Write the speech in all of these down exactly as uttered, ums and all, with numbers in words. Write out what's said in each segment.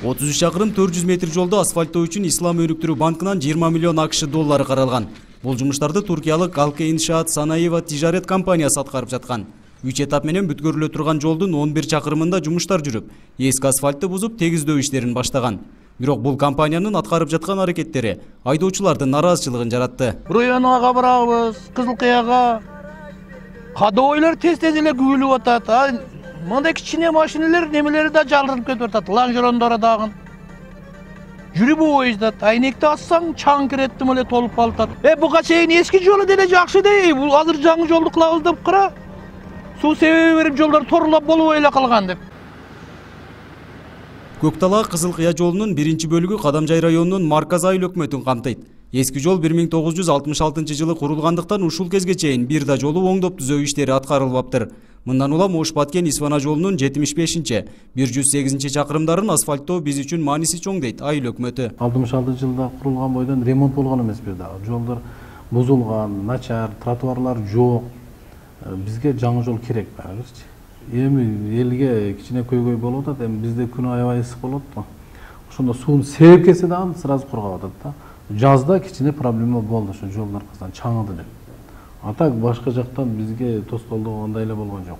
отуз үч чакырым төрт жүз метр жолду асфальттоо үчүн Ислам өнүктүрүү банкынан жыйырма миллион акш доллары каралган. Бул жумуштарды туркиялык Алке иншаат санаи ва тижарет компаниясы аткарып жаткан. үч этап менен бүткөрүлө турган жолдун он бир чакырымында жумуштар жүрүп, эски асфальтты бузуп тегиздөө иштерин баштаган. Бирок бул компаниянын аткарып жаткан аракеттери айдоочулардын нараазычылыгын жаратты. Районага барабыз, Кызылкыяга. Кадойлор тез-тез эле күгүлүп атат. Мындай кичине машиналар немелери да жалдырып кетип атат. Лаңжерондора дагы. Жүрүп ойыздат. Айнекти ассаң чаң киреттим эле толуп калат. Э буга чейин эски жолу деле жакшы дей. Бул азыр жаңы жолду кылабыз деп кара. Суу себеби берип жолдор торлап болбой эле калган деп. Көктала Кызылкыя жолунун биринчи бөлүгү Кадамжай районунун Марказ айыл өкмөтүн камтыйт. Эски жол бир миң тогуз жүз алтымыш алтынчы жылы курулгандыктан ушул кезге чейин бир да жолу оңдоп түзөө иштери аткарылбаптыр. Мындан улам Ош-Баткен Исфана жолунун жетимиш бешинчи, бир жүз сегизинчи чакырымдарын асфальттоо биз үчүн мааниси чоң дейт айыл өкмөтү. алтымыш алтынчы жылда курулган бойдон ремонт болгон эмес бир да. Жолдор бузулган, начар, тротуарлар жок. Бизге жаңы жол керек барыбырчы. Эми элге кичине көйгөй болуп атат, эми бизде күн аябай ысык болот го. Ошондо сууну себеп келсе дагы сразу кургап атат да. Жазда кичине проблема болду, ошо жолдор аркасынан чаңыды деп. А так башка жактан бизге тоскоолдоо андай эле болгон жок.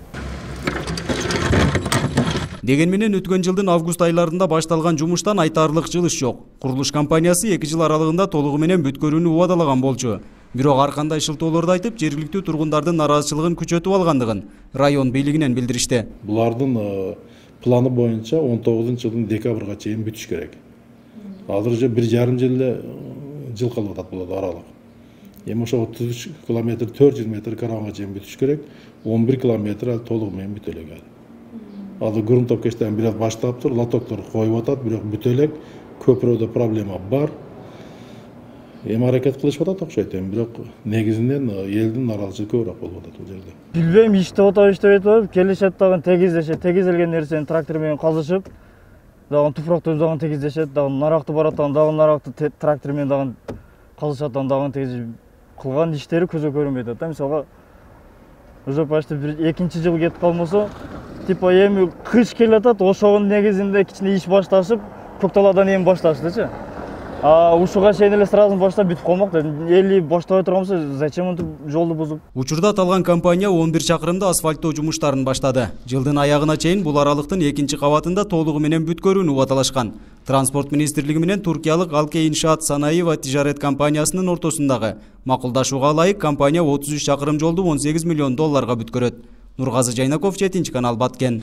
Деген менен өткөн жылдын август айларында башталган жумуштан айтаарлык жылыш жок. Курулуш компаниясы эки жыл аралыгында толугу менен бүткөрүүнү убадалаган болчу. Бирок ар кандай шылтоолорду айтып, жергиликтүү тургундардын нараазычылыгын күчөтүп алгандыгын район бийлигинен билдиришти. Булардын планы боюнча он тогузунчу жылдын декабрга чейин бүтүш керек. Азыр уже бир жарым жыл эле жыл калып атат бул аралык. Эми ошо отуз үч километр, төрт жүз метр караганга чейин бүтүш керек. он бир километр ал толугу менен бүтө элек. Азыр грунтовкачтан бир аз баштаптыр, лотоктор коюп атат, бирок бүтө элек. Көпүрөдө проблема бар. Эми аракет кылышып атат окшойт эми, бирок негизинен элдин нараазычылыгы көбүрөөк болуп атат бул жерде. Билбейм, иштеп атабы, иштебейт атабы, келишет дагы тегиздешет, тегизелген нерсени трактор менен казышып, дагы туфрактуу дагы тегиздешет, дагы наракты баратан дагы наракты трактор менен дагы казышатан дагы тегиз кылган иштери көзгө көрүнбөйт атат. Мисалга уже почти бир экинчи жыл кетип калмаса, типа эми кыш келип атат, ошонун негизинде кичине иш башташып, Көкталадан эми башташтычы. А ушуга чейин эле сразу баштап бүтүп калмак да. Эли баштабай турганбызса, зачем антип жолду бузуп? Учурда аталган компания он бир чакырымда асфальттоо жумуштарын баштады. Жылдын аягына чейин бул аралыктын экинчи кабатында толугу менен бүткөрүүнү убадалашкан. Транспорт министрлиги менен туркиялык Алке иншаат санаи ва тижарет компаниясынын ортосундагы макулдашууга ылайык компания отуз үч чакырым жолду он сегиз миллион долларга бүткөрөт. Нургазы Жайнаков, жетинчи канал, Баткен.